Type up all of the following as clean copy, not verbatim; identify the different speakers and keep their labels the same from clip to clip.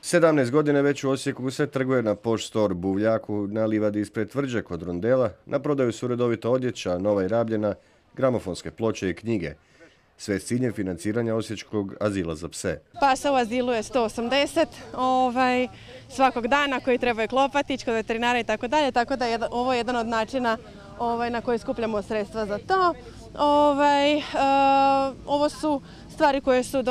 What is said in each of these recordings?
Speaker 1: 17 godina već u Osijeku se trguje na Poš Store Buvljaku, na livadi ispred Tvrđe kod Rondela. Na prodaju su redovito odjeća, nova i rabljena, gramofonske ploče i knjige. Sve s ciljem financiranja Osječkog azila za pse.
Speaker 2: Pasa u azilu je 180 svakog dana koji trebaju klopatić kod veterinara i tako dalje, tako da je ovo jedan od načina na koji skupljamo sredstva za to. Ovo su stvari koje su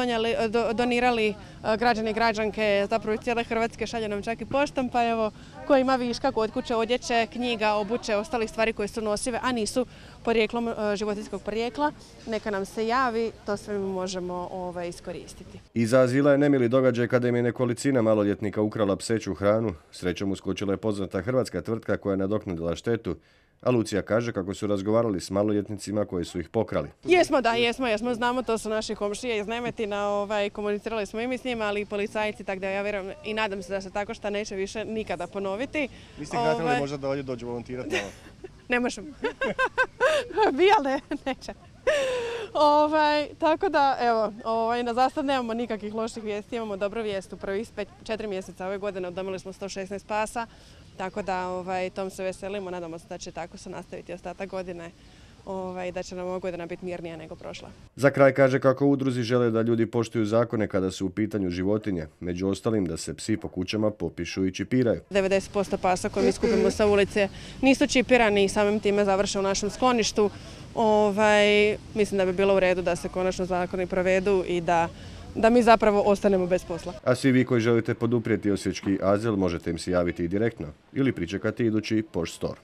Speaker 2: donirali građani i građanke, zapravo iz cijele Hrvatske, šalje nam čak i poštom, pa evo, ko ima viška kod kuće, odjeće, knjiga, obuće, ostalih stvari koje su nosive, a nisu porijeklom životinjskog porijekla, neka nam se javi, to sve mi možemo iskoristiti.
Speaker 1: Iza azila je nemili događaj kada im je nekolicina maloljetnika ukrala pseću hranu. Srećom uskočila je poznata hrvatska tvrtka koja je nadoknadila štetu, a Lucija kaže kako su razgovarali s maloljetnicima koji su ih pokrali.
Speaker 2: Jesmo, znamo, to su naši komšije iz Nemetina, komunicirali smo i mi s njima, ali i policajci, tako da ja vjerujem i nadam se da se tako šta neće više nikada ponoviti.
Speaker 3: Niste ih natjerali možda da ovdje dođu volontirati?
Speaker 2: Ne možemo. Bi, ali neće. Tako da, evo, za sad nemamo nikakvih loših vijesti, imamo dobru vijest. U prvih 4 mjeseca ove godine udomili smo 116 pasa, tako da tom se veselimo, nadamo se da će tako se nastaviti ostatak godine, da će nam ova godina biti mirnija nego prošla.
Speaker 1: Za kraj kaže kako u udruzi žele da ljudi poštuju zakone kada su u pitanju životinje, među ostalim da se psi po kućama popišu i čipiraju.
Speaker 2: 90% pasa koje mi skupimo sa ulice nisu čipirani i samim time završe u našem skloništu. Mislim da bi bilo u redu da se konačno zakoni provedu i da mi zapravo ostanemo bez posla.
Speaker 1: A svi vi koji želite poduprijeti Osječki azil možete im se javiti i direktno ili pričekati idući Poš Store.